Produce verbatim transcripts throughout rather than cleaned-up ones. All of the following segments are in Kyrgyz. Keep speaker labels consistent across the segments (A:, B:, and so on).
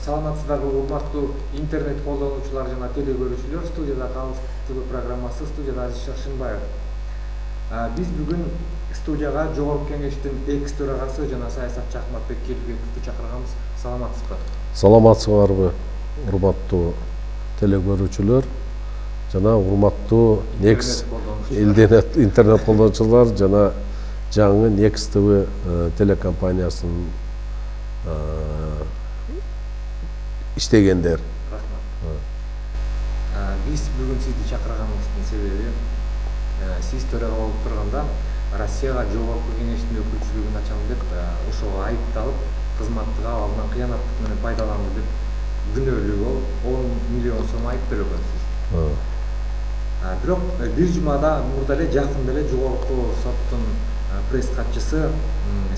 A: Саламатсыздарбы урматтуу интернет колдонуучулар жана теле көрүүчүлөр, студияда Калыс ТВ программасы, студияда Азиз Шаршынбаев. Биз бүгүн студияга Жогорку Кеңештин экс төрагасы жана саясатчы Акматбек Келбековду чакырганбыз. Саламатсызбы?
B: Саламатсыздарбы урматтуу теле көрүүчүлөр жана урматтуу Некс интернет колдонуучулар жана жаңы Некс ТВ телекомпаниясынын иштегендер.
A: Биз бүгүн сизди чакырганыбыздын себеби, сиз төрага болуп турганда Россияга Жогорку Кеңештин өкүлчүлүгүн ачам деп ошого айыпталып, кызматтык абалынан кыянаттык менен пайдаланды деп күнөөлүү болуп он миллион сом айып төлөгөнсүз. Бирок бир жумада мурда эле жакында эле Жогорку соттун пресс катчысы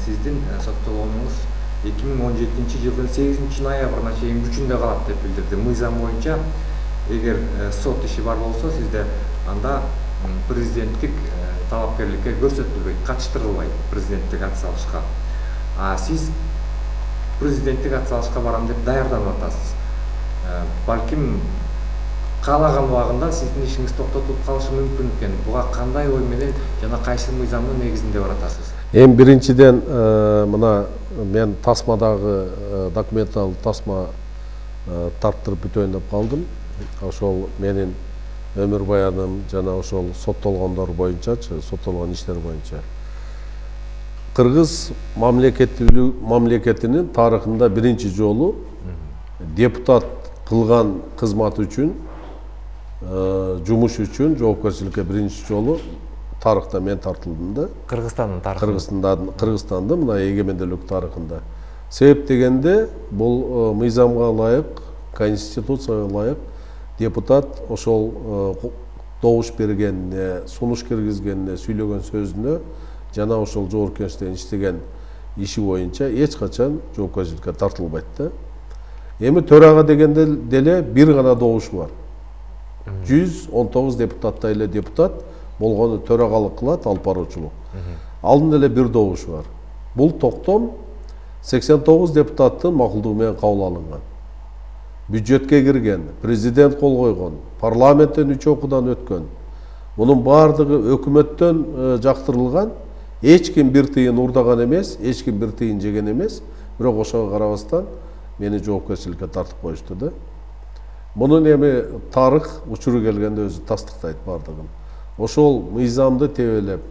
A: сиздин соттолгонуңуз эки миң он жетинчи жылдын сегизинчи ноябрына чейин күчүндө калат деп билдирди. Мыйзам боюнча эгер сот иши бар болсо, сизде анда президенттик талапкерликке көрсөтүлбөйт, катыштырылбайт президенттик ат салышка. А сиз президенттик ат салышка барам деп даярданып атасыз. Балким каалаган убагында сиздин ишиңиз токтотулуп калышы мүмкүн экен. Буга кандай ой менен жана кайсы мыйзамдын негизинде баратасыз?
B: Эми биринчиден мына мен тасмадагы документалдык тасма тарттырып бүтөйүн деп калдым. Ошол менин өмүр баяным жана ошол соттолгондор боюнчачы, соттолгон иштер боюнча. Кыргыз мамлекетинин тарыхында биринчи жолу депутат кылган кызмат үчүн, жумуш үчүн жоопкерчиликке биринчи жолу тарыхта мен тартылдым да.
A: Кыргызстандын тарыхында.
B: Кыргызстандын мына эгемендүүлүк тарыхында. Себеп дегенде бул мыйзамга ылайык, конституцияга ылайык депутат ошол добуш бергенине, сунуш киргизгенине, сүйлөгөн сөзүнө жана ошол Жогорку Кеңеште иштеген иши боюнча эч качан жоопкерчиликке тартылбайт да. Эми төрага дегенде деле бир гана добуш бар. жүз он тогуз депутаттай эле депутат болгону төрагалык кылат, алып баруучулук. Алдын эле бир добуш бар. Бул токтом сексен тогуз депутаттын макулдугу менен кабыл алынган. Бюджетке кирген, президент кол койгон, парламенттен үч окуудан өткөн. Мунун бардыгы өкмөттөн жактырылган, эч ким бир тыйын урдаган эмес, эч ким бир тыйын жеген эмес, бирок ошого карабастан мени жоопкерчиликке тартып коюшту да. Мунун эми тарых учуру келгенде өзү тастыктайт бардыгын. Ошол мыйзамды тебелеп,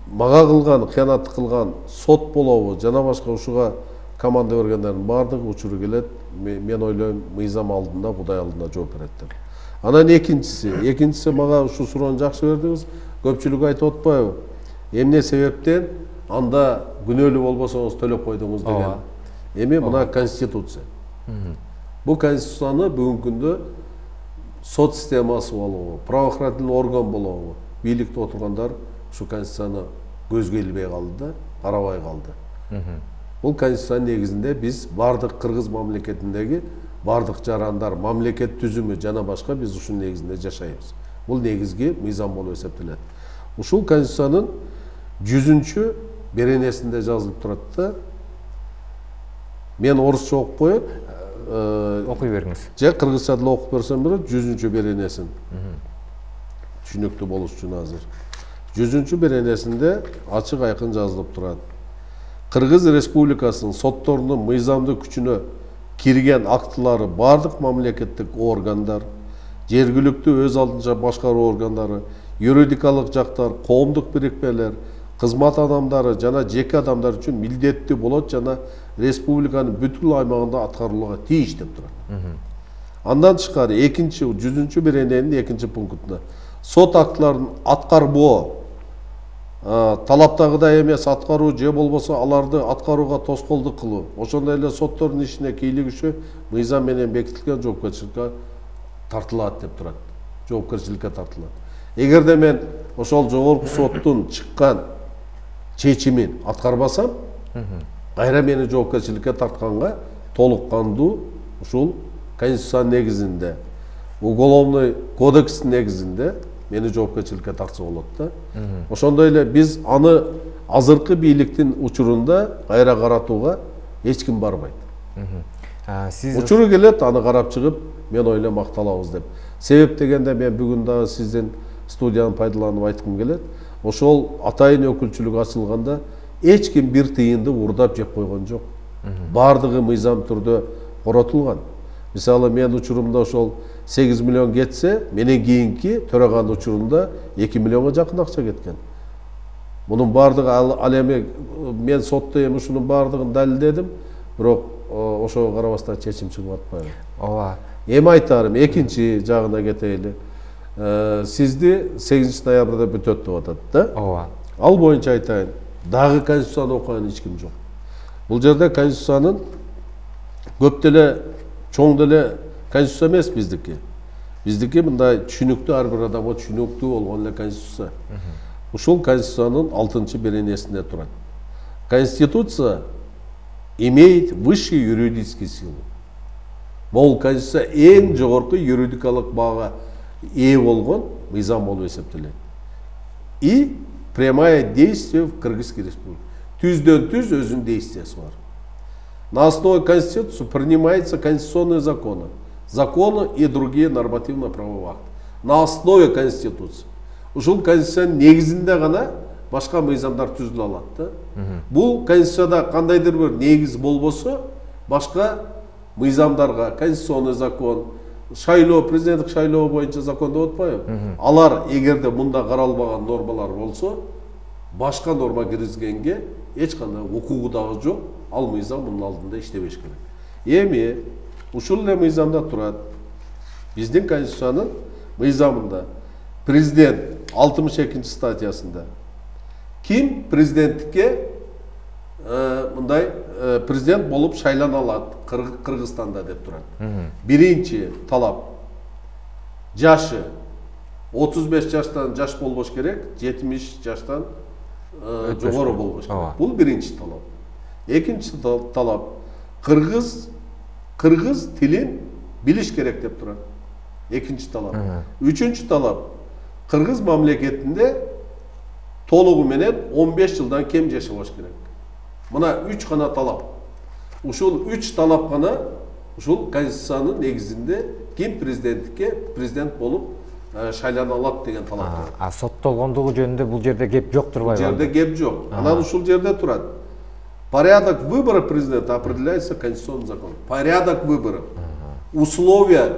B: мага кылган, кыянаттык кылган сот болобу, жана башка ушуга команда бергендердин бардыгы учуру келет. Мен ойлойм, мыйзам алдында, Кудай алдында жооп берет деп. Анан экинчиси, экинчиси мага ушу суроону жакшы бердиңиз. Көпчүлүк айтып атпайбы? Эмне себептен анда күнөөлүү болбосоңуз төлөп койдуңуз деген. Эми мына конституция. Бул конституцияны бүгүнкү күндө сот системасы болобу, правоохранительный орган болобу, бийликте отургандар ушу конституцияны көзгө илбей калды да, карабай калды. Бул конституциянын негизинде биз бардык кыргыз мамлекетиндеги бардык жарандар, мамлекет түзүмү жана башка биз ушунун негизинде жашайбыз. Бул негизги мыйзам болуп эсептелет. Ушул конституциянын жүзүнчү беренесинде жазылып турат да. Мен орусча окуп коеюн.
A: Окуй бериңиз.
B: Же кыргызча деле окуп берсем болот, жүзүнчү беренесин. Түшүнүктүү болуш үчүн азыр. жүзүнчү беренесинде ачык айкын жазылып турат. Кыргыз Республикасынын сотторунун мыйзамдык күчүнө кирген актылары бардык мамлекеттик органдар, жергиликтүү өз алдынча башкаруу органдары, юридикалык жактар, коомдук бирикмелер, кызмат адамдары жана жеке адамдар үчүн милдеттүү болот жана республиканын бүткүл аймагында аткарылууга тийиш деп турат. Андан тышкары экинчи жүзүнчү берененин экинчи пунктунда сот актыларын аткарбоо, талаптагыдай эмес аткаруу же болбосо аларды аткарууга тоскоолдук кылуу, ошондой эле соттордун ишине кийлигишүү мыйзам менен бекитилген жоопкерчиликке тартылат деп турат. Жоопкерчиликке тартылат. Эгерде мен ошол жогорку соттун чыккан чечимин аткарбасам, кайра мени жоопкерчиликке тартканга толук кандуу ушул конституциянын негизинде, уголовный кодекстин негизинде мени жоопкерчиликке тартса болот да. Ошондой эле биз аны азыркы бийликтин учурунда кайра каратууга эч ким барбайт.
A: Сиз
B: учуру келет, аны карап чыгып, мен ойлойм макталабыз деп. Себеп дегенде мен бүгүн дагы сиздин студияны пайдаланып айткым келет. Ошол атайын өкүлчүлүк ачылганда эч ким бир тыйынды урдап жеп койгон жок. Бардыгы мыйзам түрдө коротулган. Мисалы мен учурумда ошол сегиз миллион кетсе, менен кийинки төраган учурунда эки миллионго жакын акча кеткен. Мунун бардыгы ал эми мен сотто эми ушунун бардыгын далилдедим, бирок ошого карабастан чечим чыгып атпайбы.
A: Ооба.
B: Эми айтарым, экинчи жагына кетейли. Сизди сегизинчи ноябрда бүтөт деп атат да?
A: Ооба.
B: Ал боюнча айтайын, дагы конституцияны окуган эч ким жок. Бул жерде конституциянын көп деле чоң деле конституция эмес биздики. Биздики мындай түшүнүктүү, ар бир адамга түшүнүктүү болгон эле конституция. Ушул конституциянын алтынчы беренесинде турат. Конституция имеет высший юридический силу. Бул конституция эң жогорку юридикалык баага ээ болгон мыйзам болуп эсептелет. И прямое действие в Кыргызской республике. Түздөн түз өзүнүн действиясы бар. На основе Конституции принимаются конституционные законы, законы и другие нормативно-правовые акты. На основе Конституции. Ушул конституциянын негизинде гана башка мыйзамдар түзүлө алат да. Бул конституцияда кандайдыр бир негиз болбосо, башка мыйзамдарга конституционный закон, шайлоо, президенттик шайлоо боюнча закон деп атпайбы? Алар эгерде мында каралбаган нормалар болсо, башка норма киргизгенге эч кандай укугу дагы жок. Ал мыйзам мунун алдында иштебеш керек. Эми ушул эле мыйзамда турат. Биздин конституциянын мыйзамында президент алтымыш экинчи статьясында ким президенттикке мындай президент болуп шайлана алат Кыргызстанда деп турат. Биринчи талап жашы отуз беш жаштан жаш болбош керек, жетимиш жаштан жогору болбош керек. Бул биринчи талап. Экинчи талап кыргыз кыргыз тилин билиш керек деп турат. Экинчи талап. Үчүнчү талап кыргыз мамлекетинде толугу менен он беш жылдан кем жашабаш керек. Мына үч гана талап. Ушул үч талап гана ушул конституциянын негизинде ким президенттикке президент болуп шайлана алат деген талап бар.
A: А соттолгондугу жөнүндө бул жерде кеп жок турбайбы?
B: Бул жерде кеп жок. Анан ушул жерде турат. Порядок выбора президента определяется конституционным законом. Порядок выборов. Условия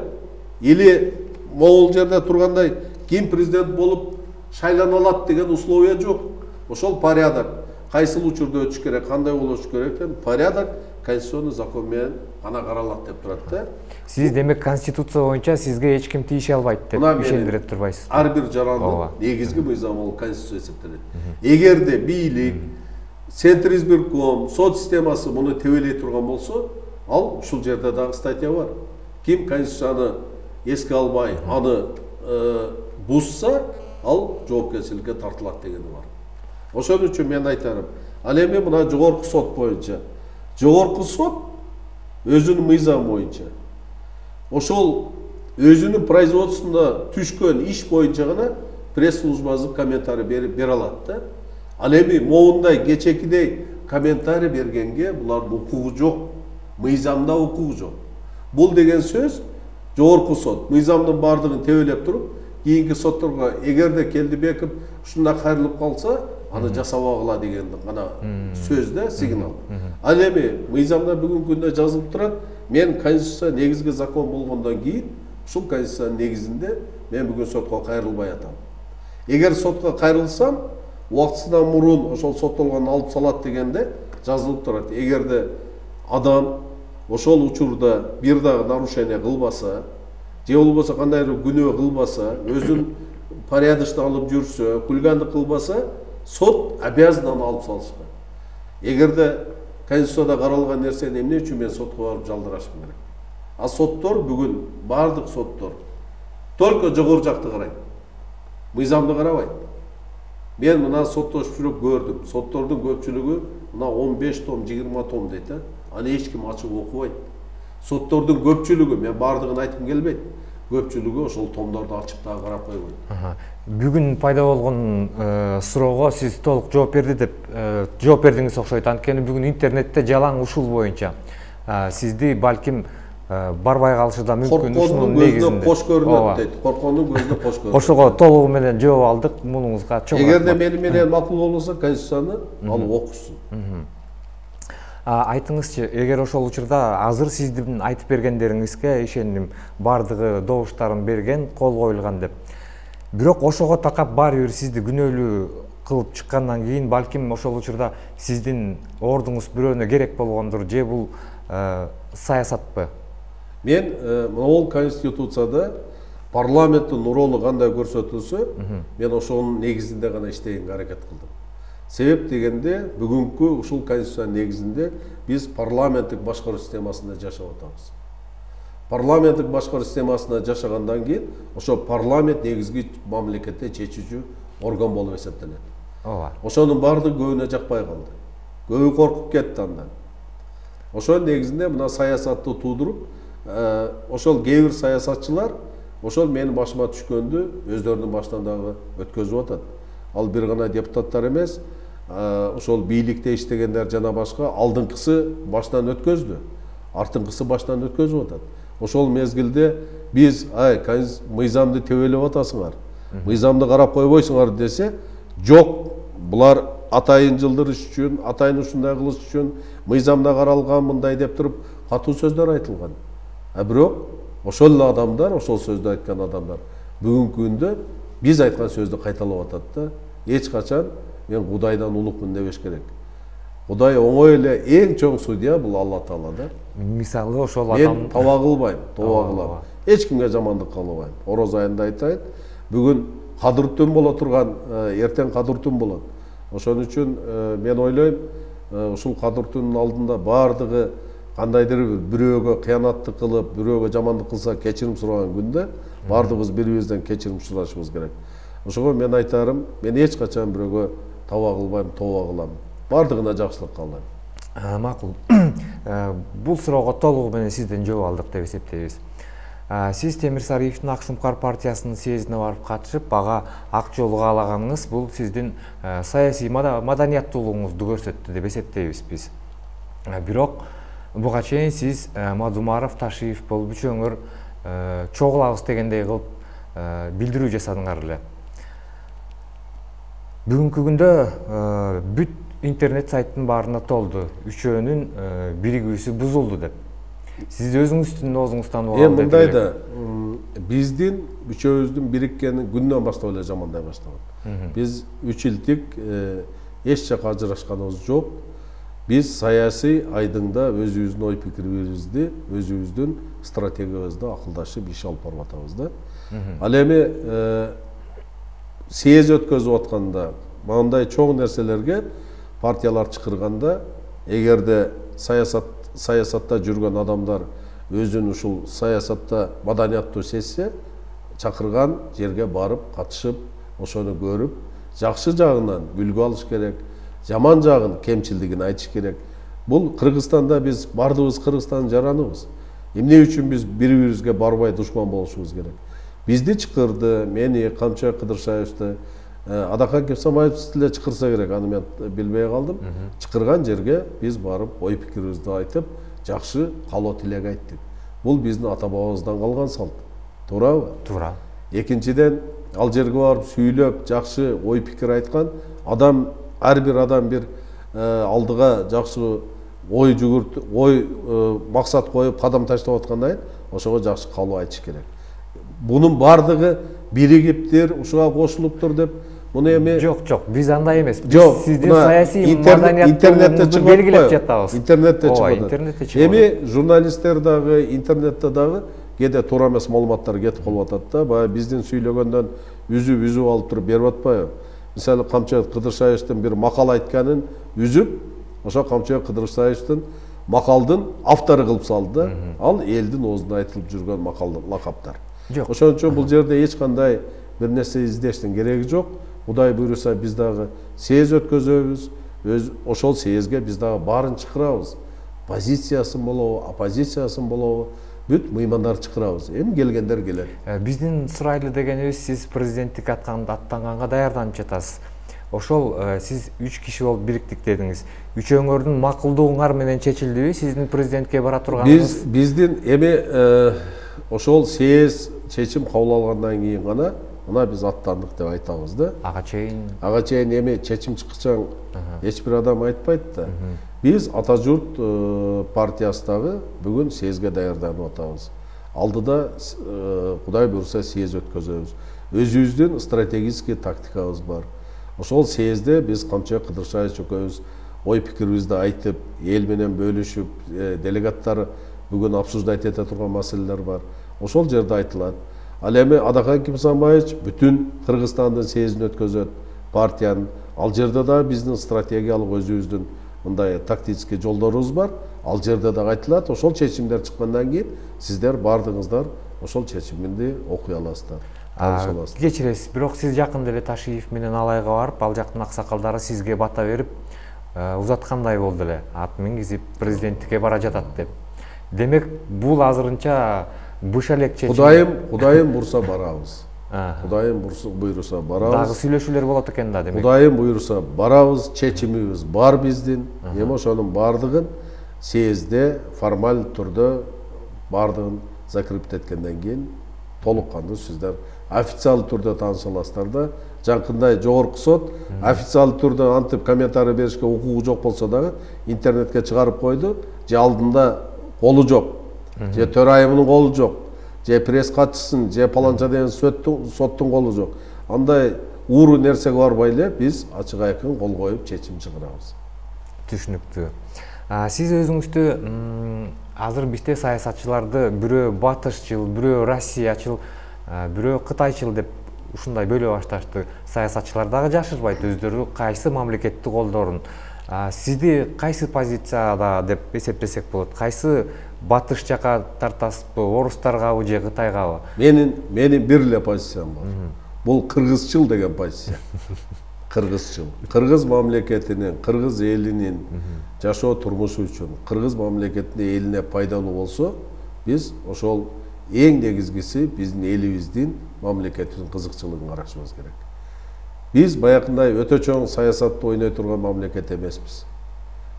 B: или могул жерде тургандай ким президент болуп шайлана алат деген условия жок. Ошол порядок кайсыл учурда өтүш керек, кандай болуш керек деген порядок конституционный закон менен гана каралат деп турат да.
A: Сиз демек конституция боюнча сизге эч ким тийише албайт деп ишендире турбайсыз.
B: Ар бир жарандын негизги мыйзамы бул конституция эсептелет. Эгерде бийлик, центр избирком, сот системасы муну тебелей турган болсо, ал ушул жерде дагы статья бар. Ким конституцияны эске албай, аны бузса, ал жоопкерчиликке тартылат дегени бар. Ошон үчүн мен айтарым, ал эми мына жогорку сот боюнча, жогорку сот өзүнүн мыйзамы боюнча, ошол өзүнүн производствосунда түшкөн иш боюнча гана пресс-службасы комментарий бере алат да. Ал эми моундай кечекидей комментарий бергенге булардын укугу жок, мыйзамда укугу жок. Бул деген сөз жогорку сот мыйзамдын бардыгын тебелеп туруп, кийинки сотторго эгерде Келдибеков ушундай кайрылып калса, аны жасабагыла деген гана сөз да, сигнал. Ал эми мыйзамда бүгүнкү күндө жазылып турат, мен конституция негизги закон болгондон кийин ушул конституциянын негизинде мен бүгүн сотко кайрылбай атам. Эгер сотко кайрылсам, убактысынан мурун ошол соттолгонду алып салат дегенде жазылып турат. Эгерде адам ошол учурда бир дагы нарушение кылбаса, же болбосо кандайдыр күнөө кылбаса, өзүн порядочно алып жүрсө, хулигандык кылбаса, сот обязан аны алып салышка. Эгерде конституцияда каралган нерсени эмне үчүн мен сотко барып жалдырашым керек? А соттор бүгүн бардык соттор только жогору жакты карайт. Мыйзамды карабайт. Мен мына соттошчулук көрдүм. Соттордун көпчүлүгү мына он беш том, жыйырма том дейт. Аны эч ким ачып окубайт. Соттордун көпчүлүгү, мен бардыгын айткым келбейт. Көпчүлүгү ошол томдорду ачып дагы карап койбойт.
A: Бүгүн пайда болгон суроого сиз толук жооп берди деп жооп бердиңиз окшойт. Анткени бүгүн интернетте жалаң ушул боюнча
C: сизди балким барбай калышы да мүмкүн.
B: Коркоонун көзүнө кош көрүнөт дейт. Коркоонун көзүнө кош көрүнөт.
C: Ошого толугу менен жооп алдык. Мунуңузга чоң рахмат.
B: Эгерде мени менен макул болбосо, Конституцияны алып окушсун.
C: Айтыңызчы, эгер ошол учурда азыр сиздин айтып бергендериңизге ишеним, бардыгы добуштарын берген, кол коюлган деп. Бирок ошого такап баары бир сизди күнөөлүү кылып чыккандан кийин, балким ошол учурда сиздин ордуңуз бирөөнө керек болгондур, же бул саясатпы?
B: Мен могул Конституцияда парламенттин ролу кандай көрсөтүлсө, мен ошонун негизинде гана иштегенге аракет кылдым. Себеп дегенде, бүгүнкү ушул Конституциянын негизинде биз парламенттик башкаруу системасында жашап атабыз. Парламенттик башкаруу системасында жашагандан кийин, ошо парламент негизги мамлекетте чечүүчү орган болуп эсептелет.
C: Ооба.
B: Ошонун баардыгы көбүнө жакпай калды. Көбү коркуп кетти андан. Ошонун негизинде мына саясатты туудуруп, ошол кээ бир саясатчылар ошол менин башыма түшкөндү өздөрүнүн башынан дагы өткөзүп атат. Ал бир гана депутаттар эмес, ошол бийликте иштегендер жана башка алдыңкысы баштан өткөздү, артыңкысы баштан өткөзүп атат. Ошол мезгилде биз ай мыйзамды тебелеп атасыңар, мыйзамды карап койбойсуңар десе, жок, булар атайын жылдырыш үчүн, атайын ушундай кылыш үчүн мыйзамда каралган мындай деп туруп катуу сөздөр айтылган. А бирок ошол адамдар, ошол сөздү айткан адамдар бүгүнкү күндө биз айткан сөздү кайталап атат да, эч качан мен Кудайдан улукмун дебеш керек. Кудай оңой эле эң чоң судья бул Алла Таала да.
C: Мисалы ошол адам
B: мен таба кылбайм, тоба кылам. Эч кимге жамандык кылбайм. Ороз айында айтайын, бүгүн кадыр түн боло турган, эртең кадыр түн болот. Ошон үчүн мен ойлойм, ушул кадыр түнүнүн алдында бардыгы кандайдыр бирөөгө кыянаттык кылып, бирөөгө жамандык кылса кечирим сураган күндө бардыгыбыз бири-бирибизден кечирим сурашыбыз керек. Ошого мен айтарым, мен эч качан бирөөгө таба кылбайм, тоба кылам. Бардыгына жакшылык каалайм.
C: Макул. Бул суроого толугу менен сизден жооп алдык деп эсептейбиз. Сиз Темир Сариевдин Ак Шумкар партиясынын съездине барып катышып, ага ак жолу каалаганыңыз бул сиздин саясий маданияттуулугуңузду көрсөттү деп эсептейбиз биз. Бирок буга чейин сиз Мадумаров, Ташиев болуп үчөөңөр чогулабыз дегендей кылып билдирүү жасадыңар эле. Бүгүнкү күндө бүт интернет сайттын баарына толду. Үчөөнүн биригүүсү бузулду деп. Сиз өзүңүздүн оозуңуздан угам.
B: Эми мындай да, биздин үчөөбүздүн бириккени күндөн баштап эле жамандай баштаган. Биз үч жылдык эч жака ажырашканыбыз жок. Биз саясий айдыңда өзүбүздүн ой пикирибизди, өзүбүздүн стратегиябызды акылдашып иш алып барып атабыз да. Ал эми съезд өткөзүп атканда, мындай чоң нерселерге партиялар чакырганда, эгерде саясат саясатта жүргөн адамдар өзүн ушул саясатта маданияттуу сезсе, чакырган жерге барып, катышып, ошону көрүп, жакшы жагынан үлгү алыш керек, жаман жагын, кемчилдигин айтыш керек. Бул Кыргызстанда биз бардыгыбыз Кыргызстандын жараныбыз. Эмне үчүн биз бири-бирибизге барбай душман болушубуз керек? Бизди чакырды, мени, Камчыбек Кыдыршаевди, Адахан Кемсамаевди эле чакырса керек, аны мен билбей калдым. Чакырган жерге биз барып, ой пикирибизди айтып, жакшы каалоо тилек айттык. Бул биздин ата-бабабыздан калган салт. Туурабы?
C: Туура.
B: Экинчиден, ал жерге барып сүйлөп, жакшы ой пикир айткан адам, ар бир адам бир алдыга жакшы ой жүгүрт, ой максат коюп, кадам таштап аткандан кийин ошого жакшы каалоо айтыш керек. Бунун бардыгы биригиптир, ушуга кошулуптур деп, муну эми
C: жок, жок, биз андай эмес.
B: Биз
C: сиздин саясий маданияттуулугуңузду белгилеп жатабыз.
B: Интернетте чыгып атат.
C: Интернетте чыгып атат.
B: Эми журналисттер дагы, интернетте дагы кээде туура эмес маалыматтар кетип калып атат да, баягы биздин сүйлөгөндөн үзүп-үзүп алып туруп берип атпайбы? Мисалы, Камчыбек Кыдыршаевдин бир макал айтканын үзүп, ошо Камчыбек Кыдыршаевдин макалдын автору кылып салды да. Ал элдин оозунда айтылып жүргөн макал, лакаптар.
C: Жок.
B: Ошон үчүн бул жерде эч кандай бир нерсе издештин кереги жок. Кудай буйруса биз дагы съезд өткөзөбүз. Өз ошол съездге биз дагы баарын чакырабыз. Позициясын болобу, оппозициясын болобу, бүт мыймандар чакырабыз. Эми келгендер келет.
C: Биздин сурайлы дегенибиз, сиз президенттик аттанганга даярданып жатасыз. ошол сиз үч киши болуп бириктик дедиңиз. Үчөөңөрдүн макулдугуңар менен чечилдиби сиздин президентке бара турганыңыз?
B: Биз биздин эми ошол съезд чечим кабыл алгандан кийин гана мына биз аттандык деп айтабыз да.
C: Ага чейин
B: ага чейин эми чечим чыккыча эч бир адам айтпайт да. Биз Ата журт партиясы дагы бүгүн съездге даярданып атабыз. Алдыда Кудай буйруса съезд өткөзөбүз. Өзүбүздүн стратегический тактикабыз бар. Ошол съездде биз Камчы Кыдыршаевич экөөбүз ой пикирибизди айтып, эл менен бөлүшүп, делегаттар бүгүн обсуждать эте турган маселелер бар. Ошол жерде айтылат. Ал эми Адакан Кимсанбаевич бүтүн Кыргызстандын съездин өткөзөт, партиянын. Ал жерде да биздин стратегиялык өзүбүздүн мындай тактический жолдорубуз бар. Ал жерде да айтылат. Ошол чечимдер чыккандан кийин сиздер бардыгыңыздар ошол чечимди окуй аласыздар.
C: Кечиресиз, бирок сиз жакында эле Ташиев менен Алайга барып, ал жактын аксакалдары сизге бата берип, узаткандай болду эле. Ат мингизип президенттикке бара жатат деп. Демек, бул азырынча буш элек чечим.
B: Кудайым, Кудайым бурса барабыз. Кудайым буйруса барабыз.
C: Дагы сүйлөшүүлөр болот экен да, демек.
B: Кудайым буйруса барабыз, чечимибиз бар биздин. Эми ошонун бардыгын съездде формаль түрдө бардыгын закрепиттеткенден кийин толук кандуу сиздер официалдуу түрдө тааныша аласыздар да. Жакында жогорку сот официалдуу түрдө антип комментарий беришке укугу жок болсо дагы интернетке чыгарып койду. Же алдында колу жок, же төрайымынын колу жок, же пресс катчысынын, же паланча деген соттун колу жок. Андай ууру нерсеге барбай эле биз ачык айкын кол коюп чечим чыгарабыз.
C: Түшүнүктүү. Сиз өзүңүздү азыр бизде саясатчыларды бирөө батышчыл, бирөө Россиячыл, бирөө Кытайчыл деп ушундай бөлө башташты. Саясатчылар дагы жашырбайт өздөрү кайсы мамлекетти колдоорун. Сизди кайсы позицияда деп эсептесек болот? Кайсы батыш жака тартасызбы, орустаргабы же Кытайгабы?
B: Менин менин бир эле позициям бар. Бул кыргызчыл деген позиция. Кыргызчыл. Кыргыз мамлекетинин, кыргыз элинин жашоо турмушу үчүн, кыргыз мамлекетине элине пайдалуу болсо, биз ошол эң негизгиси биздин элибиздин мамлекетибиздин кызыкчылыгын карашыбыз керек. Биз баягындай өтө чоң саясатты ойной турган мамлекет эмеспиз.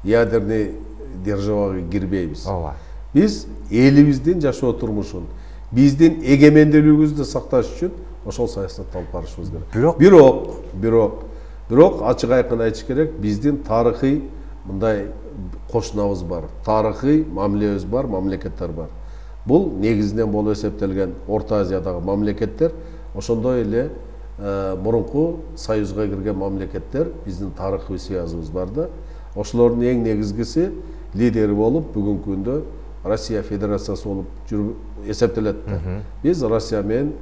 B: Ядерный державага кирбейбиз.
C: Ооба.
B: Биз элибиздин жашоо турмушун, биздин эгемендүүлүгүбүздү сакташ үчүн ошол саясатты алып барышыбыз керек.
C: Бирок,
B: бирок, бирок, бирок ачык айкын айтыш керек, биздин тарыхый мындай кошунабыз бар, тарыхый мамилебиз бар, мамлекеттер бар. Бул негизинен болуп эсептелген Орто Азиядагы мамлекеттер, ошондой эле мурунку союзга кирген мамлекеттер, биздин тарыхый связыбыз бар да. Ошолордун эң негизгиси лидери болуп бүгүнкү күндө Россия Федерациясы болуп жүрүп эсептелет да. Биз Россия менен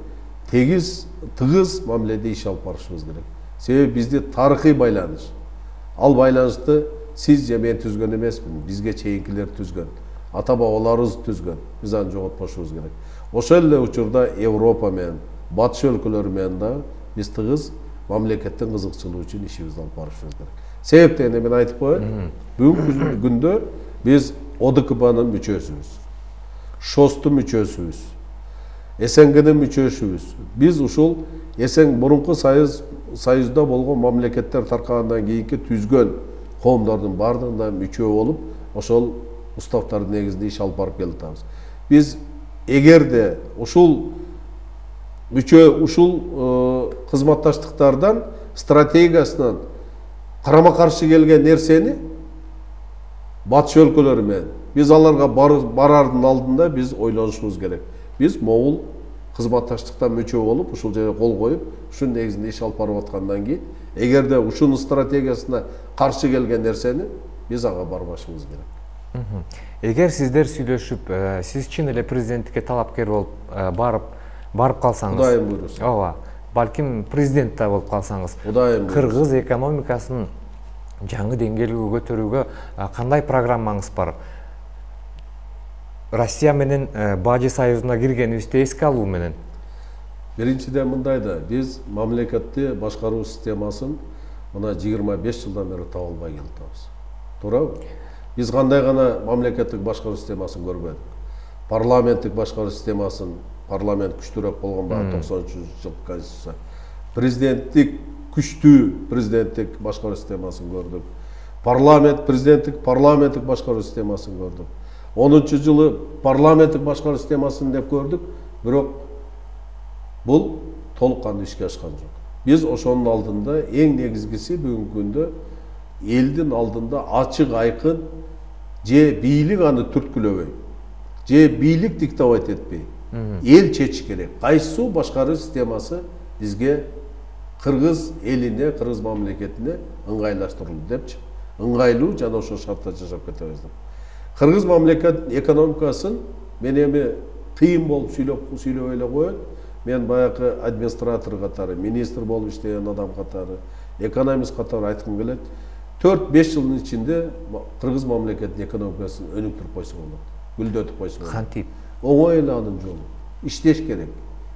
B: тегиз, тыгыз мамиледе иш алып барышыбыз керек. Себеби бизде тарыхый байланыш. Ал байланышты сиз же мен түзгөн эмесмин, бизге чейинкилер түзгөн. Ата бабаларыбыз түзгөн. Биз аны жоготпошубуз керек. Ошол эле учурда Европа менен, батыш өлкөлөрү менен да биз тыгыз мамлекеттин кызыкчылыгы үчүн ишибизди алып барышыбыз керек. Себептен мен айтып коеюн, бүгүнкү күндө биз О Д К Б'нын мүчөсүбүз, ШОСТун мүчөсүбүз, С Н Г'нын мүчөсүбүз. Биз ушул С Н мурунку союз союзда болгон мамлекеттер таркагандан кийинки түзгөн коомдордун бардыгында мүчө болуп, ошол уставдардын негизинде иш алып барып келатабыз. Биз эгерде ушул мүчө ушул кызматташтыктардан стратегиясынан карама каршы келген нерсени батыш өлкөлөрү менен биз аларга барардын алдында биз ойлонушубуз керек. Биз могул кызматташтыктан мүчө болуп, ушул жерге кол коюп, ушунун негизинде иш алып барып аткандан кийин, эгерде ушунун стратегиясына каршы келген нерсени биз ага барбашыбыз керек.
C: Эгер сиздер сүйлөшүп, сиз чын эле президенттикке талапкер болуп барып барып калсаңыз,
B: Кудайым буйруса.
C: Ооба, балким президент да болуп калсаңыз,
B: Кудайым буйруса.
C: Кыргыз экономикасын жаңы деңгээлге көтөрүүгө кандай программаңыз бар? Россия менен Бажы союзуна киргенибизди эске алуу менен.
B: Биринчиден мындай да, биз мамлекетти башкаруу системасын мына жыйырма беш жылдан бери таба албай келатабыз. Туурабы? Биз кандай гана мамлекеттик башкаруу системасын көрбөдүк. Парламенттик башкаруу системасын, парламент күчтүүрөөк болгон баягы токсон үчүнчү жыл конституция. Президенттик күчтүү президенттик башкаруу системасын көрдүк. Парламент президенттик парламенттик башкаруу системасын көрдүк. онунчу жылы парламенттик башкаруу системасын деп көрдүк, бирок бул толук кандуу ишке ашкан жок. Биз ошонун алдында эң негизгиси бүгүнкү күндө элдин алдында ачык айкын же бийлик аны түрткүлөбөй, же бийлик диктовать этпей, эл чечиш керек. Кайсы башкаруу системасы бизге кыргыз элине, кыргыз мамлекетине ыңгайлаштырылды депчи. Ыңгайлуу жана ошол шартта жашап кетебиз деп. Кыргыз мамлекет экономикасын мен эми кыйын болуп сүйлөп сүйлөп эле коет. Мен баягы администратор катары, министр болуп иштеген адам катары, экономист катары айткым келет. төрт беш жылдын ичинде кыргыз мамлекетинин экономикасын өнүктүрүп койсо болот. Гүлдөтүп койсо болот.
C: Кантип?
B: Оңой эле анын жолу. Иштеш керек.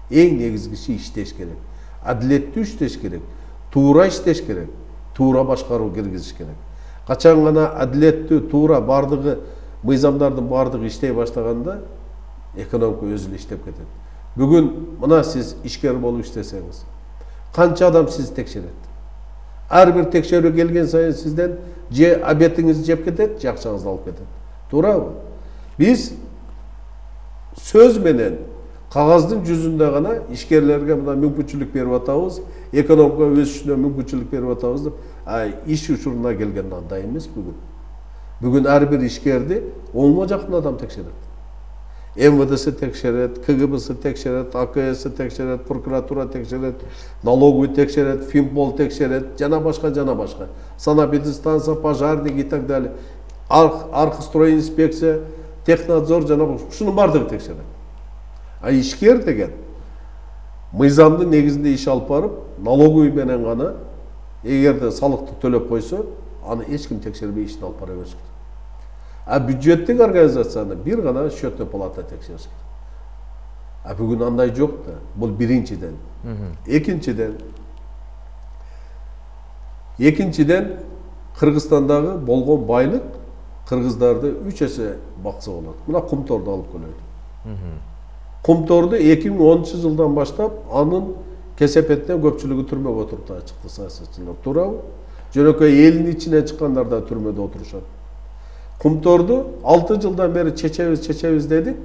B: Эң негизгиси иштеш керек. Адилеттүү иштеш керек. Туура иштеш керек. Туура башкаруу киргизиш керек. Качан гана адилеттүү, туура бардыгы мыйзамдардын бардыгы иштей баштаганда экономика өзү эле иштеп кетет. Бүгүн мына сиз ишкер болуп иштесеңиз, канча адам сизди текшерет? Ар бир текшерүү келген сайын сизден же обедиңизди жеп кетет, же акчаңызды алып кетет. Туурабы? Биз сөз менен кагаздын жүзүндө гана ишкерлерге мына мүмкүнчүлүк берип атабыз, экономика өсүшүнө мүмкүнчүлүк берип атабыз деп, а иш учуруна келгенде андай эмес бүгүн. Бүгүн ар бир ишкерди онго жакын адам текшерет. эм вэ дэси текшерет, ка гэ бэси текшерет, а ка эси текшерет, прокуратура текшерет, налоговый текшерет, финпол текшерет, жана башка жана башка. Санэпидстанция, пожарник и так далее. Архстройинспекция, технадзор жана ушунун бардыгы текшерет. А ишкер деген мыйзамдын негизинде иш алып барып, налоговый менен гана эгерде салыкты төлөп койсо, аны эч ким текшербей ишин алып бара бериш керек. А бюджеттик организацияны бир гана счетный палата текшериш керек. А бүгүн андай жок да. Бул биринчиден. Экинчиден Экинчиден Кыргызстандагы болгон байлык кыргыздарды үч эсе бакса болот. Мына Кумторду алып келели. Кумторду эки миң онунчу жылдан баштап анын кесепетинен көпчүлүгү түрмөгө отуруп чыкты саясатчылар. Туурабы? Жөнөкөй элдин ичинен чыккандар да түрмөдө отурушат. Кумторду алты жылдан бери чечебиз, чечебиз дедик,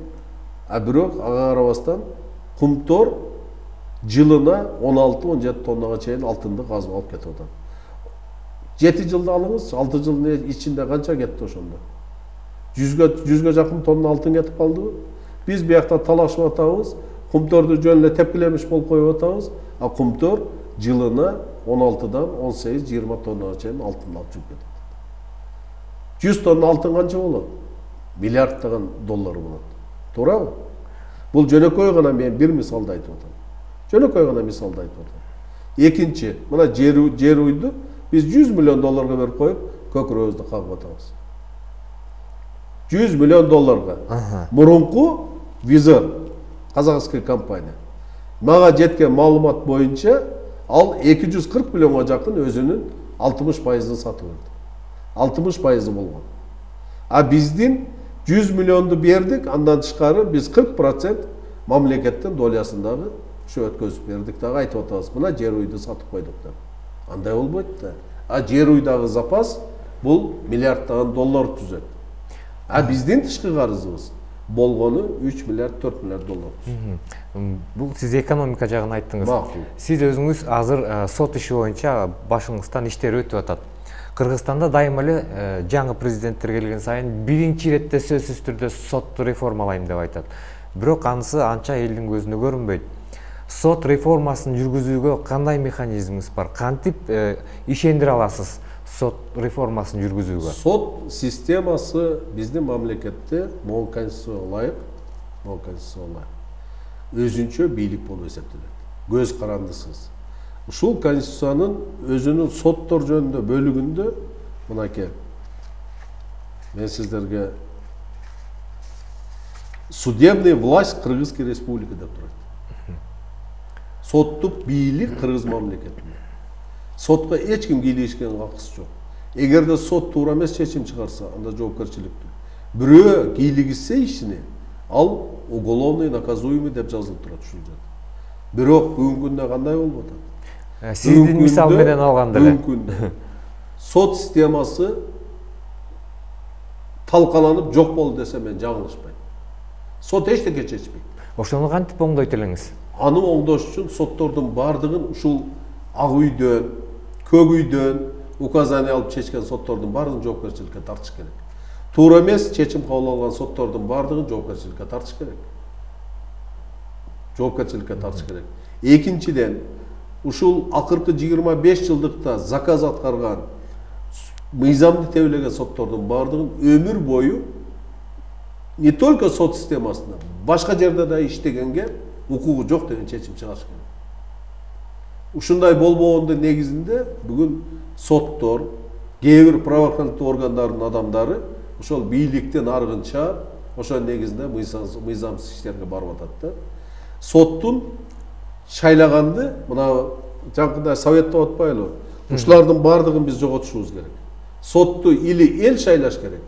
B: а бирок ага карабастан Кумтор жылына он алты он жети тоннага чейин алтынды казып алып кетип атат. жети жылды алыңыз, алты жылдын ичинде канча кетти ошондо? жүзгө жүзгө жакын тонна алтын кетип калдыбы? Биз биякта талашып атабыз, Кумторду жөн эле тепкилемиш болуп коюп атабыз, а Кумтор жылына он алтыдан он сегиз жыйырма тоннага чейин алтын алып жүрүп кетет. жүз тонна алтын канча болот? Миллиарддаган доллар болот. Туурабы? Бул жөнөкөй гана мен бир мисалды айтып атам. Жөнөкөй гана мисалды айтып атам. Экинчи, мына жер жер уйду биз жүз миллион долларга берип коюп, көкүрөбүздү кагып атабыз. жүз миллион долларга. Мурунку Визор, казакский компания. Мага жеткен маалымат боюнча, ал эки жүз кырк миллионго жакын өзүнүн алтымыш пайызын сатып берди. алтымыш пайызы болгон. А биздин жүз миллионду бердик, андан тышкары биз кырк процент мамлекеттин долясындагы ушу өткөзүп бердик дагы айтып атабыз. Мына жер уйду сатып койдук деп. Андай болбойт да. А жер уйдагы запас бул миллиарддаган доллар түзөт. А биздин тышкы карызыбыз болгону үч миллиард төрт миллиард доллар.
C: Бул сиз экономика жагын айттыңыз. Сиз өзүңүз азыр сот иши боюнча башыңыздан иштер өтүп атат. Кыргызстанда дайыма эле жаңы президенттер келген сайын биринчи иретте сөзсүз түрдө сотту реформалайм деп айтат. Бирок анысы анча элдин көзүнө көрүнбөйт. Сот реформасын жүргүзүүгө кандай механизмиңиз бар? Кантип ишендире аласыз сот реформасын жүргүзүүгө?
B: Сот системасы биздин мамлекетте могу конституцияга ылайык, могу конституцияга ылайык өзүнчө бийлик болуп эсептелет. Көз карандысыз. Ушул конституциянын өзүнүн соттор жөнүндө бөлүгүндө мынакей мен сиздерге судебный власть Кыргызской республики деп турат. Соттук бийлик Кыргыз мамлекетинде. Сотко эч ким кийлигишкен акысы жок. Эгерде сот туура эмес чечим чыгарса, анда жоопкерчиликтүү. Бирөө кийлигишсе ишине, ал уголовный наказуемый деп жазылып турат ушул жерде. Бирок бүгүнкү күндө кандай болуп атат?
C: Сиздин мисал менен алганда эле
B: мүмкүн сот системасы талкаланып жок болду десе мен жаңылышпайм. Сот эчтеке чечпейт.
C: Ошону кантип оңдойт элеңиз?
B: Аны оңдош үчүн соттордун бардыгын ушул ак үйдөн, көк үйдөн указание алып чечкен соттордун бардыгын жоопкерчиликке тартыш керек. Туура эмес чечим кабыл алган соттордун бардыгын жоопкерчиликке тартыш керек. Жоопкерчиликке тартыш керек. Экинчиден, ушул акыркы жыйырма беш жылдыкта заказ аткарган мыйзамды тебелеген соттордун бардыгын өмүр бою не только сот системасында, башка жерде да иштегенге укугу жок деген чечим чыгарыш керек. Ушундай болбогондун негизинде бүгүн соттор, кээ бир правоохранительдик органдардын адамдары ошол бийликтен аргынча ошонун негизинде мыйзамсыз иштерге барып атат да. Соттун шайлаганды мына жаңкындай совет деп атпайлы. Ушулардын бардыгын биз жоготушубуз керек. Сотту или эл шайлаш керек,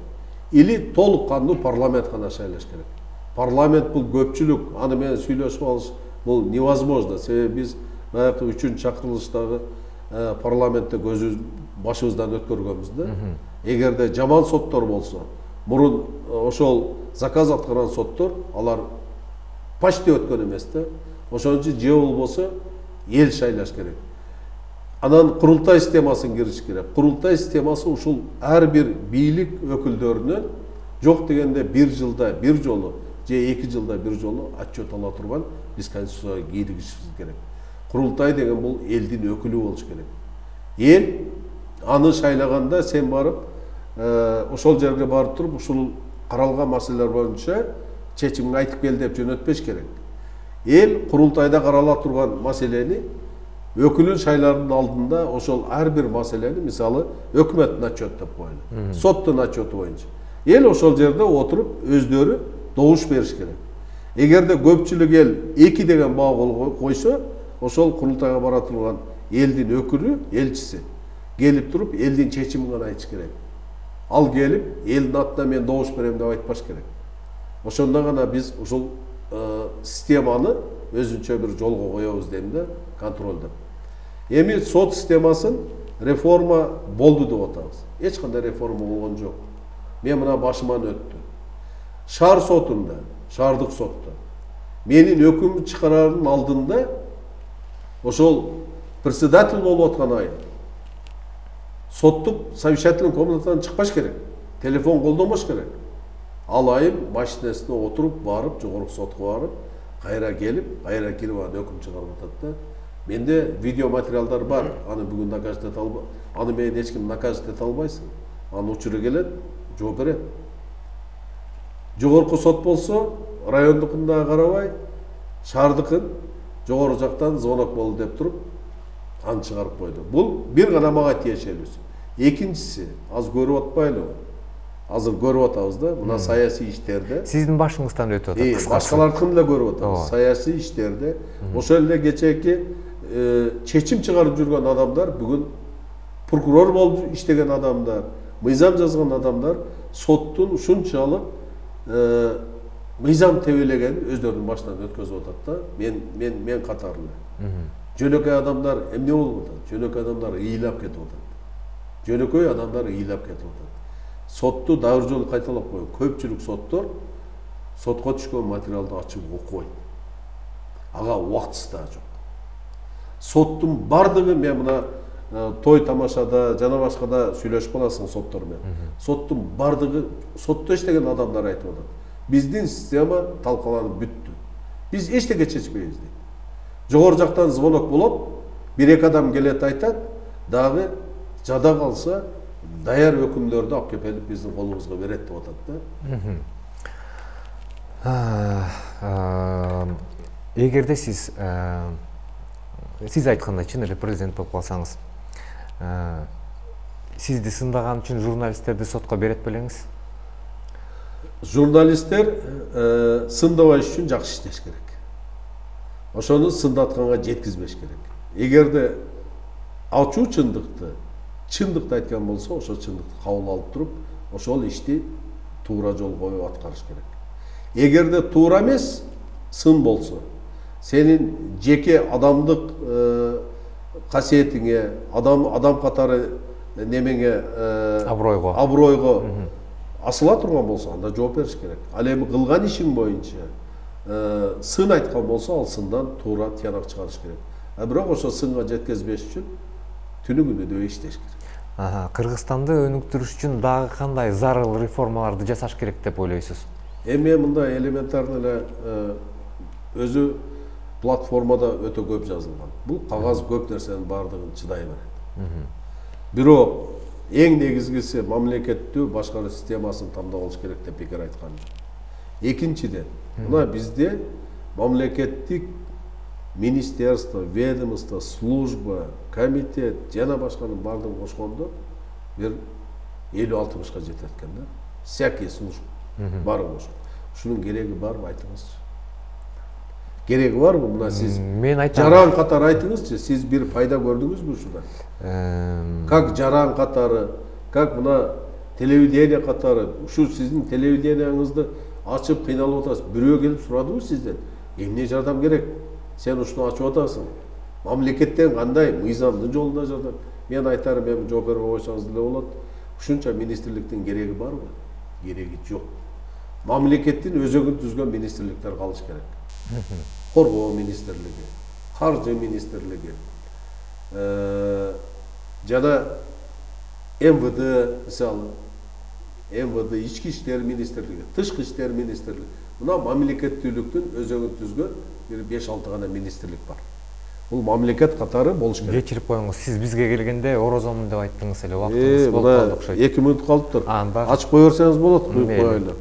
B: или толук кандуу парламент гана шайлаш керек. Парламент бул көпчүлүк, аны менен сүйлөшүп алыш бул невозможно. Себеби биз баягы үчүнчү чакырылыштагы парламентте көзүбүз башыбыздан өткөргөнбүз да. Эгерде жаман соттор болсо, мурун ошол заказ аткарган соттор, алар почти өткөн эмес да. Ошон үчүн же болбосо эл шайлаш керек. Анан курултай системасын кириш керек. Курултай системасы ушул ар бир бийлик өкүлдөрүнөн жок дегенде бир жылда бир жолу же эки жылда бир жолу отчет ала турган биз конституцияга киргизишибиз керек. Курултай деген бул элдин өкүлү болуш керек. Эл аны шайлаганда сен барып ошол жерге барып туруп ушул каралган маселелер боюнча чечимин айтып кел деп жөнөтпеш керек. Эл курултайда карала турган маселени өкүлүн шайлаардын алдында ошол ар бир маселени, мисалы, өкмөттүн отчет деп коелу. Соттун отчету боюнча. Эл ошол жерде отуруп өздөрү добуш бериш керек. Эгерде көпчүлүк эл эки деген баа койсо, ошол курултайга бара турган элдин өкүлү, элчиси келип туруп элдин чечимин гана айтыш керек. Ал келип элдин атынан мен добуш берем деп айтпаш керек. Ошондо гана биз ушул системаны өзүнчө бир жолго коебуз дейм да, контролдоп. Эми сот системасын реформа болду деп атабыз. Эч кандай реформа болгон жок. Мен мына башыман өттү. Шаар сотунда, шаардык сотто менин өкүм чыгарардын алдында ошол председатель болуп аткан айыл соттук совещательный комнатадан чыкпаш керек. Телефон колдонбош керек. Ал айым машинасына отуруп барып, жогорку сотко барып, кайра келип, кайра кирип анан өкүм чыгарып атат да. Менде видео материалдар бар. Аны бүгүн наказ эте албайм. Аны менен эч ким наказ эте албайсың. Анын учуру келет, жооп берет. Жогорку сот болсо, райондукунда карабай, шаардыкын жогору жактан звонок болду деп туруп, аны чыгарып койду. Бул бир гана мага тиешелүүсү. Экинчиси, аз көрүп атпайлы. Азыр көрүп атабыз да, мына саясий иштерде.
C: Сиздин башыңыздан өтүп атат.
B: Э, башкалардыкын да көрүп атабыз. Саясий иштерде ошол эле кечээки чечим чыгарып жүргөн адамдар, бүгүн прокурор болуп иштеген адамдар, мыйзам жазган адамдар соттун ушунчалык мыйзам тебелеген өздөрүнүн башынан өткөзүп атат да. Мен мен мен катары эле. Жөнөкөй адамдар эмне болуп атат? Жөнөкөй адамдар ыйлап кетип атат. Жөнөкөй адамдар ыйлап кетип атат. Сотту дагы жолу кайталап коеюн. Көпчүлүк соттор сотко түшкөн материалды ачып окубайт. Ага убактысы да жок. Соттун бардыгы, мен мына той тамашада жана башкада сүйлөшүп каласың соттор менен. Соттун бардыгы, сотто иштеген адамдар айтып атат. Биздин система талкаланып бүттү. Биз эчтеке чечпейбиз дейт. Жогору жактан звонок болот, бир эки адам келет айтат, дагы жада калса даяр өкүмдөрдү алып келип биздин колубузга берет деп
C: атат да. Эгерде сиз сиз айткандай чын эле президент болуп калсаңыз, сизди сындаган үчүн журналисттерди сотко берет белеңиз?
B: Журналисттер сындабаш үчүн жакшы иштеш керек. Ошону сындатканга жеткизбеш керек. Эгерде ачуу чындыкты, чындыкты айткан болсо, ошол чындыкты кабыл алып туруп, ошол ишти туура жол коюп аткарыш керек. Эгерде туура эмес, сын болсо, сенин жеке адамдык касиетиңе, адам адам катары немеңе
C: абройго
B: абройго асыла турган болсо, анда жооп бериш керек. Ал эми кылган ишиң боюнча сын айткан болсо, ал сындан туура тыянак чыгарыш керек. А бирок ошо сынга жеткизбеш үчүн түнү күнү дөй иштеш керек.
C: Кыргызстанды өнүктүрүш үчүн дагы кандай зарыл реформаларды жасаш керек деп ойлойсуз?
B: Эми мындай элементарный эле өзү платформада өтө көп жазылган. Бул кагаз көп нерсенин баардыгын чыдай берет. Бирок эң негизгиси мамлекеттүү башкаруу системасын тандап алыш керек деп пикир айткан. Экинчиден, мына бизде мамлекеттик министерство, ведомство, служба, комитет жана башканын баардыгын кошкондо бир элүү алтымышка жетет экен да. Всякий служба баары кошкон. Ушунун кереги барбы, айтыңызчы? Кереги барбы? Мына сиз жаран катары айтыңызчы, сиз бир пайда көрдүңүзбү ушудан? Как жаран катары, как мына телевидение катары, ушу сиздин телевидениеңизди ачып кыйналып атасыз. Бирөө келип сурадыбы сизден? Эмне жардам керек? Сен ушуну ачып атасың. Мамлекеттен кандай мыйзамдын жолунда жардам? Мен айтарым, эми жооп бербей койсоңуз деле болот. Ушунча министрликтин кереги барбы? Кереги жок. Мамлекеттин өзөгүн түзгөн министрликтер калыш керек. Коргоо министрлиги, каржы министрлиги, жана эм вэ дэ, мисалы, эм вэ дэ, ички иштер министрлиги, тышкы иштер министрлиги. Мына мамлекеттүүлүктүн өзөгүн түзгөн бир беш алты гана министрлик бар. Бул мамлекет катары болуш керек.
C: Кечирип коюңуз, сиз бизге келгенде орозомун деп айттыңыз эле, убактыңыз болуп калды окшойт.
B: эки мүнөт калыптыр. Ачып кое берсеңиз болот, куюп коелу.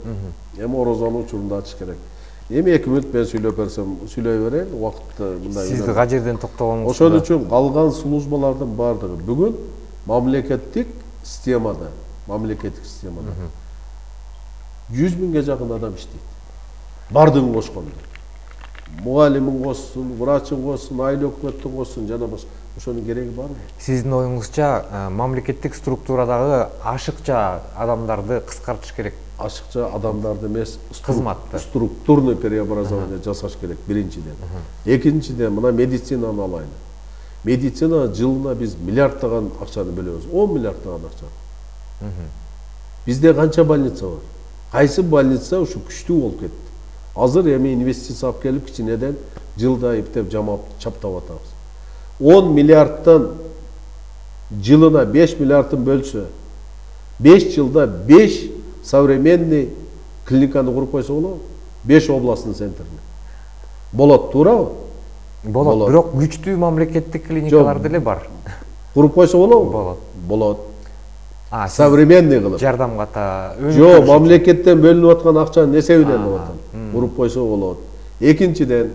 B: Эми орозонун учурунда ачыш керек. Эми эки мүнөт мен сүйлөп берсем, сүйлөй берейин, убакытты мындай.
C: Сиз ага жерден токтогонуңуз.
B: Ошон үчүн калган службалардын баардыгы бүгүн мамлекеттик системада, мамлекеттик системада жүз миңге жакын адам иштейт. Бардыгын кошкондо. Мугалимин кошсун, врачын кошсун, айыл өкмөттүн кошсун жана башка. Ошонун кереги барбы?
C: Сиздин оюңузча мамлекеттик структурадагы ашыкча адамдарды кыскартыш керек.
B: Ашыкча адамдарды эмес,
C: кызматты
B: структурный преобразование жасаш керек биринчиден. Экинчиден, мына медицинаны алайлы. Медицина жылына биз миллиардтаган акчаны бөлөбүз. он миллиардтаган акча. Бизде канча больница бар? Кайсы больница ушу күчтүү болуп кетти? Азыр эми инвестиция алып келип кичинеден жылда иптеп жамап чаптап атабыз. он миллиардтан жылына беш миллиардын бөлсө, беш жылда беш современный клиниканы куруп койсо болобу? беш областный центрни. Болот, туурабы?
C: Болот, бирок күчтүү мамлекеттик клиникалар деле бар.
B: Куруп койсо болобу?
C: Болот.
B: Болот. Современный кылып.
C: Жардам ката.
B: Жок, мамлекеттен бөлүнүп аткан акчанын эсебинен болот. Куруп койсо болот. Экинчиден,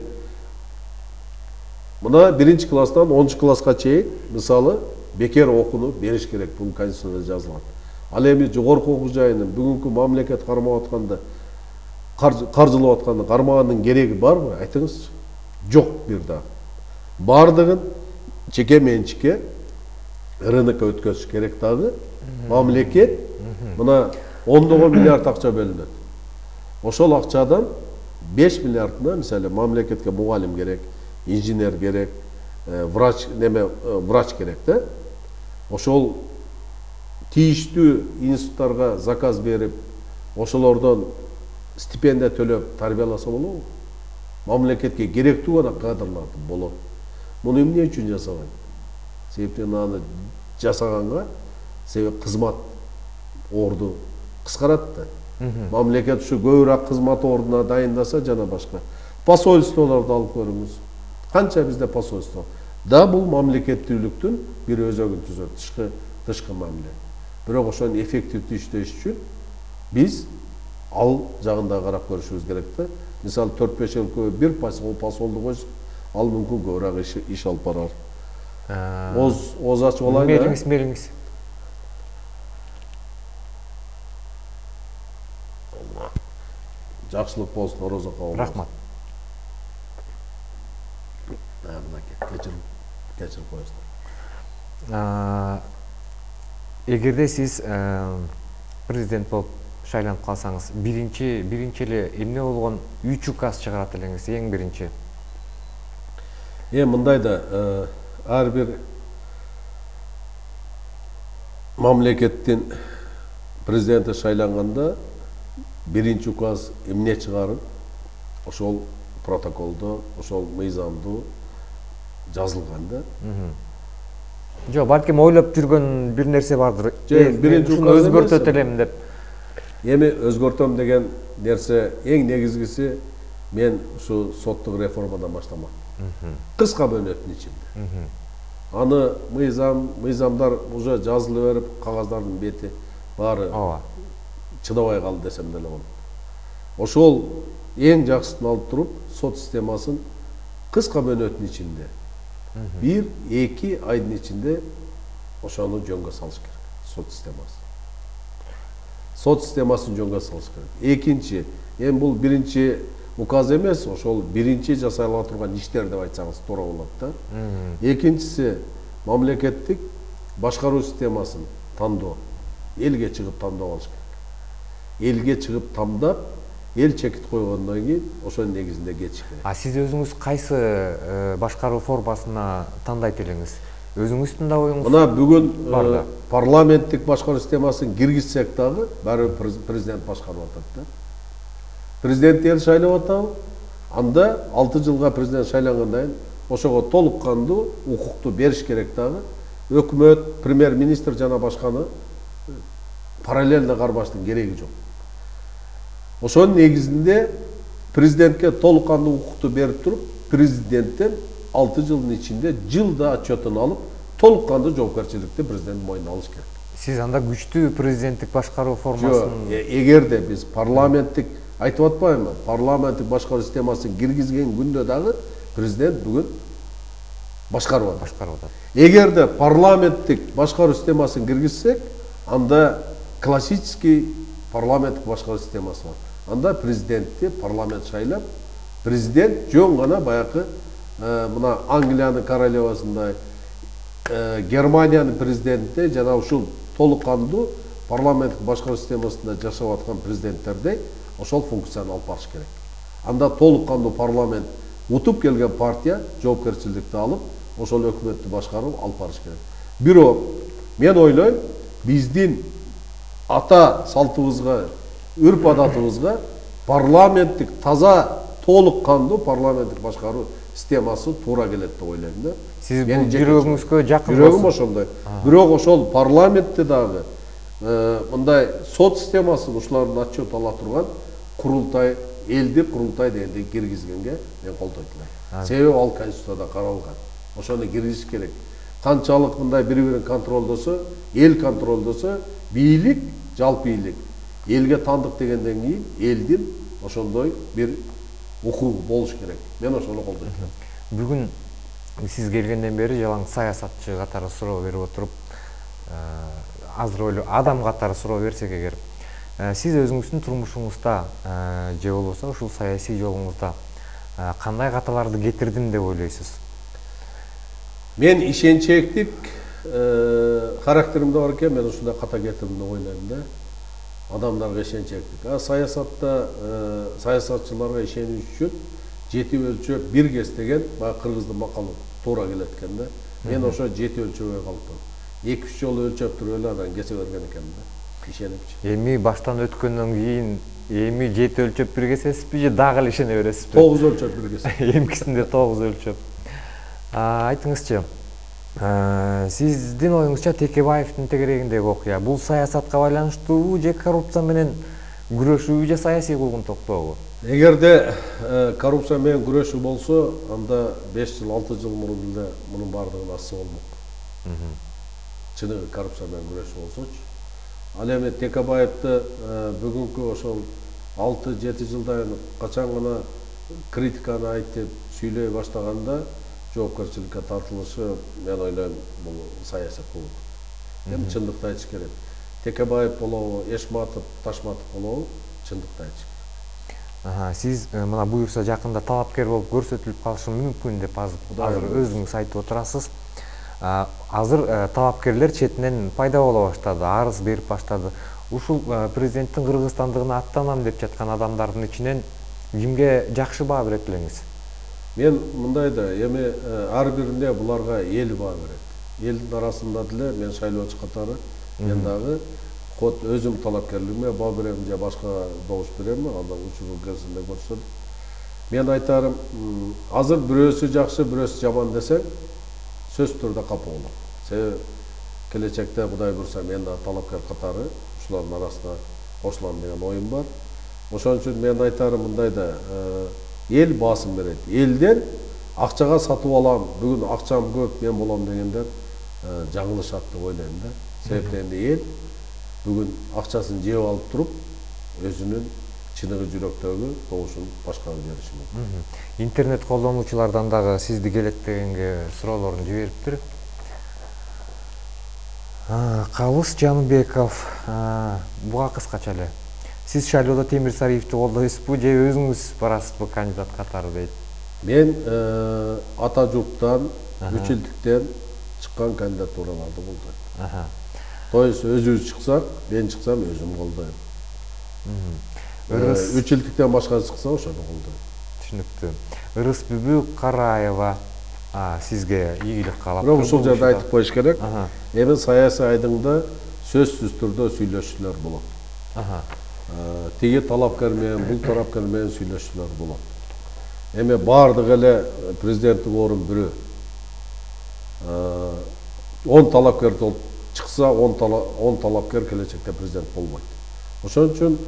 B: мына биринчи класстан онунчу класска чейин, мисалы, бекер окууну бериш керек, бул конституцияда жазылган. Ал эми жогорку окуу жайынын бүгүнкү мамлекет кармап атканда, каржылап атканда кармаганын кереги барбы? Айтыңызчы. Жок бир да. Бардыгын жеке менчикке рынокко өткөзүш керек дагы. Мамлекет мына ондогон миллиард акча бөлүнөт. Ошол акчадан беш миллиардына, мисалы, мамлекетке мугалим керек, инженер керек, врач, неме, врач керек да. Ошол тийиштүү институттарга заказ берип, ошолордон стипендия төлөп тарбияласа болобу? Мамлекетке керектүү гана кадрларды болот. Муну эмне үчүн жасаган? Себептен аны жасаганга себеп кызмат орду кыскарат да. Мамлекет ушу көбүрөөк кызмат ордуна дайындаса жана башка. Посольстволорду алып көрүңүз. Канча бизде посольство? Да, бул мамлекеттүүлүктүн бир өзөгүн түзөт, тышкы тышкы мамиле. Бирок ошонун эффективдүү иштеш үчүн биз ал жагында карап көрүшүбүз керек да. Мисалы, төрт беш жыл көбү бир посолду койсо, ал мүмкүн көбүрөөк иш, иш алып барар. Оз оз ачып алайын да.
C: Мелиңиз, мелиңиз.
B: Жакшылык болсун, орозокко болсун.
C: Рахмат.
B: Кечирип, кечирип коесуздар.
C: Эгерде сиз президент болуп шайланып калсаңыз, биринчи биринчи эле эмне болгон үч указ чыгарат элеңиз, эң биринчи?
B: Эми мындай да, ар бир мамлекеттин президенти шайланганда биринчи указ эмне чыгарып, ошол протоколдо, ошол мыйзамдуу жазылган да.
C: Жок, балким ойлоп жүргөн бир нерсе бардыр.
B: Биринчи указ
C: өзгөртөт элем деп.
B: Эми өзгөртөм деген нерсе эң негизгиси мен ушу соттук реформадан баштамак. Кыска мөөнөттүн ичинде. Аны мыйзам, мыйзамдар уже жазылып берип, кагаздардын бети баары чыдабай калды десем деле болот. Ошол эң жакшысын алып туруп, сот системасын кыска мөөнөттүн ичинде бир эки айдын ичинде ошону жөнгө салыш керек. Сот системасы. Сот системасын жөнгө салыш керек. Экинчи, эми бул биринчи указ эмес, ошол биринчи жасала турган иштер деп айтсаңыз туура болот да. Экинчиси, мамлекеттик башкаруу системасын тандоо. Элге чыгып тандап алыш керек. Элге чыгып тандап, эл чекит койгондон кийин ошонун негизинде кетиш керек.
C: А сиз өзүңүз кайсы башкаруу формасына тандайт элеңиз? Өзүңүздүн да оюңуз?
B: Мына бүгүн парламенттик башкаруу системасын киргизсек дагы баары президент башкарып атат да. Президент эл шайлап атабы? Анда алты жылга президент шайлангандан кийин ошого толук кандуу укукту бериш керек дагы. Өкмөт, премьер-министр жана башканы параллельно карбаштын кереги жок. Ошонун негизинде президентке толук кандуу укукту берип туруп, президенттен алты жылдын ичинде жылда отчетун алып, толук кандуу жоопкерчиликти президент мойнуна алыш керек.
C: Сиз анда күчтүү президенттик башкаруу формасын...
B: Эгерде биз парламенттик, айтып атпаймынбы, парламенттик башкаруу системасын киргизген күндө дагы президент бүгүн башкарып атат.
C: Башкарып атат.
B: Эгерде парламенттик башкаруу системасын киргизсек, анда классический парламенттик башкаруу системасы бар. Анда президентти парламент шайлап, президент жөн гана баягы мына Англиянын королевасындай, Германиянын президенти жана ушул толук кандуу парламенттик башкаруу системасында жашап аткан президенттердей ошол функцияны алып барыш керек. Анда толук кандуу парламент утуп келген партия жоопкерчиликти алып, ошол өкмөттү башкарып алып барыш керек. Бирок мен ойлойм, биздин ата салтыбызга, үрп адатыбызга парламенттик таза толук кандуу парламенттик башкаруу системасы туура келет деп ойлойм да.
C: Сиз бул жүрөгүңүзгө жакын.
B: Жүрөгүм ошондой. Бирок ошол парламентте дагы мындай сот системасын ушулардын отчет ала турган курултай, элдик курултай дегенди киргизгенге мен колдойт элем. Себеби ал конституцияда каралган. Ошону киргизиш керек. Канчалык мындай бири-бирин контролдосо, эл контролдосо, бийлик, жалпы бийлик элге тандык дегенден кийин элдин ошондой бир укугу болуш керек. Мен ошону колдойт элем.
C: Бүгүн сиз келгенден бери жалаң саясатчы катары суроо берип отуруп, азыр ойло адам катары суроо берсек эгер, сиз өзүңүздүн турмушуңузда же болбосо ушул саясий жолуңузда кандай каталарды кетирдим деп ойлойсуз?
B: Мен ишенчээктик характеримде бар экен, мен ушундай ката кетирдим деп ойлойм да. Адамдарга ишенчээктик. А саясатта саясатчыларга ишениш үчүн жети өлчөп бир кес деген баягы кыргыздын макалы туура келет экен да. Мен ошо жети өлчөбөй калыптым. эки үч жолу өлчөп туруп эле анан кесе берген экен да. Ишенипчи.
C: Эми баштан өткөндөн кийин эми жети өлчөп бир кесесизби же дагы эле ишене бересизби?
B: тогуз өлчөп бир кес.
C: Эмкисинде тогуз өлчөп. Айтыңызчы, сиздин оюңузча Текебаевдин тегерегиндеги окуя бул саясатка байланыштуубу же коррупция менен күрөшүүбү же саясий куугун токтообу?
B: Эгерде коррупция менен күрөшүү болсо, анда беш жыл, алты жыл мурун эле мунун баардыгын ачса болмок. Чыныгы коррупция менен күрөшүү болсочу. Ал эми Текебаевди бүгүнкү ошол алты жети жылдан качан гана критиканы айтып сүйлөй баштаганда жоопкерчиликке тартылышы, мен ойлойм, бул саясий куук. Эми чындыкты айтыш керек. Текебаев болобу, Эшматов, Ташматов болобу, чындыкты айтыш керек.
C: Сиз мына буюрса жакында талапкер болуп көрсөтүлүп калышы мүмкүн деп азыр өзүңүз айтып отурасыз. Азыр талапкерлер четинен пайда боло баштады, арыз берип баштады. Ушул президенттин кыргызстандыгына аттанам деп жаткан адамдардын ичинен кимге жакшы баа берет элеңиз?
B: Мен мындай да, эми ар бирине буларга эл баа берет. Элдин арасында деле мен шайлоочу катары Мен дагы код өзүм талапкерлигиме баа берем же башка добуш беремби, андан учуру кезинде көрсөтүп. Мен айтарым, азыр бирөөсү жакшы, бирөөсү жаман десең, сөзсүз түрдө капа болом. Себеби келечекте Кудай буйрса мен да талапкер катары ушулардын арасына кошулам деген оюм бар. Ошон үчүн мен айтарым мындай да, эл басым берет. Элдер акчага сатып алам, бүгүн акчам көп, мен болом дегендер жаңылышат деп ойлойм да. Себептен эл бүгүн акчасын жеп алып туруп, өзүнүн чыныгы жүрөктөгү добушун башкага бериши мүмкүн.
C: Интернет колдонуучулардан дагы сизди келет дегенге суроолорун жибериптир. Калыс Жаныбеков, буга кыскача эле. Сиз шайлоодо Темир Сариевди колдойсузбу же өзүңүз барасызбы кандидат катары дейт?
B: Мен ата журттан, үчүлдүктөн чыккан кандидатураларды колдойм. То есть өзүбүз чыксак, мен чыксам өзүм колдойм. Үчүлдүктөн башка чыкса ошону колдойм.
C: Түшүнүктүү. Ырыс Бүбү Караева сизге ийгилик каалап.
B: Бирок ушул жерде айтып коюш керек. Эми саясий айдыңда сөзсүз түрдө сүйлөшүүлөр болот. Тиги талапкер менен, бул талапкер менен сүйлөшүүлөр болот. Эми баардык эле президенттик орун бирөө. он талапкер чыкса, он талапкер келечекте президент болбойт. Ошон үчүн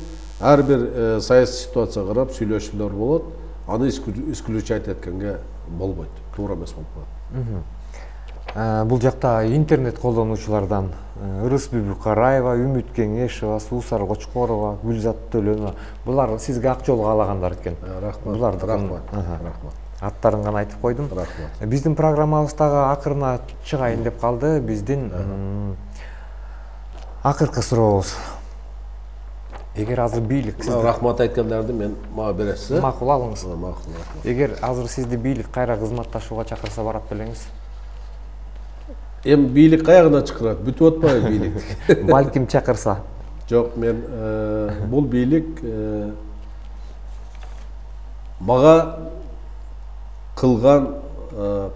B: ар бир саясий ситуацияга карап сүйлөшүүлөр болот. Аны исключать эткенге болбойт. Туура эмес болуп калат.
C: Бул жакта интернет колдонуучулардан Ырыс Бүбү Караева, Үмүт Кеңешова, Суусар Кочкорова, Гүлзат Төлөнова, булар сизге ак жол каалагандар экен.
B: Рахмат.
C: Буларды
B: рахмат. Рахмат.
C: Аттарын гана айтып койдум.
B: Рахмат.
C: Биздин программабыз дагы акырына чыгайын деп калды. Биздин акыркы сурообуз. Эгер азыр бийлик сизди
B: рахмат айткандарды мен мага бересиз.
C: Макул алыңыз.
B: Макул.
C: Эгер азыр сизди бийлик кайра кызматташууга чакырса барат белеңиз?
B: Эми бийлик каягына чакырат? Бүтүп атпайбы бийлик?
C: Балким чакырса.
B: Жок, мен бул бийлик мага кылган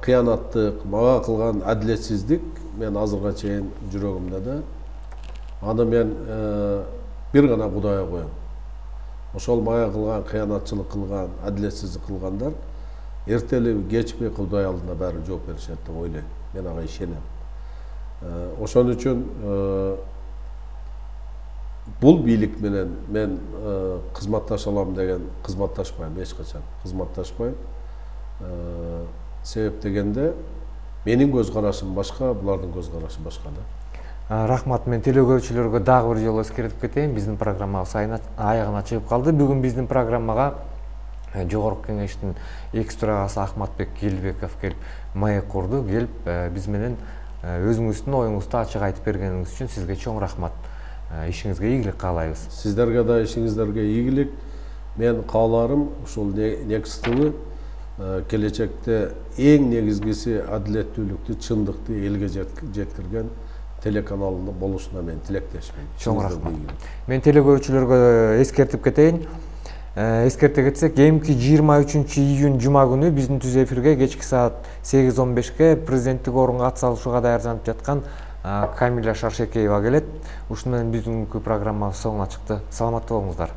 B: кыянаттык, мага кылган адилетсиздик мен азырга чейин жүрөгүмдө да. Аны мен бир гана Кудайга коем. Ошол мага кылган кыянатчылык кылган, адилетсиздик кылгандар эртелеби кечпей Кудай алдында баары жооп беришет деп ойлойм. Мен ага ишенем. Ошон үчүн бул бийлик менен мен кызматташа алам деген кызматташпайм эч качан. Кызматташпайм. Себеп дегенде менин көз карашым башка, булардын көз карашы башка да.
C: Рахмат, мен телекөрүүчүлөргө дагы бир жолу эскертип кетейин. Биздин программабыз аягына чыгып калды. Бүгүн биздин программага Жогорку Кеңештин экс төрагасы Ахматбек Келбеков келип маек курду. Келип биз менен өзүңүздүн оюңузду ачык айтып бергениңиз үчүн сизге чоң рахмат. Ишиңизге ийгилик каалайбыз.
B: Сиздерге да ишиңиздерге ийгилик. Мен кааларым ушул негизги келечекте эң негизгиси адилеттүүлүктү, чындыкты элге жеткирген телеканалында болушуна мен тилектешмин.
C: Чоң рахмат. Мен телекөрүүчүлөргө эскертип кетейин. Эскерте кетсек, эмки жыйырма үчүнчү июнь жума күнү биздин түз эфирге кечки саат сегиз он бешке президенттик орунга ат салышууга даярданып жаткан Камиля Шаршекеева келет. Ушуну менен биздин программабыз соңуна чыкты. Саламатта болуңуздар.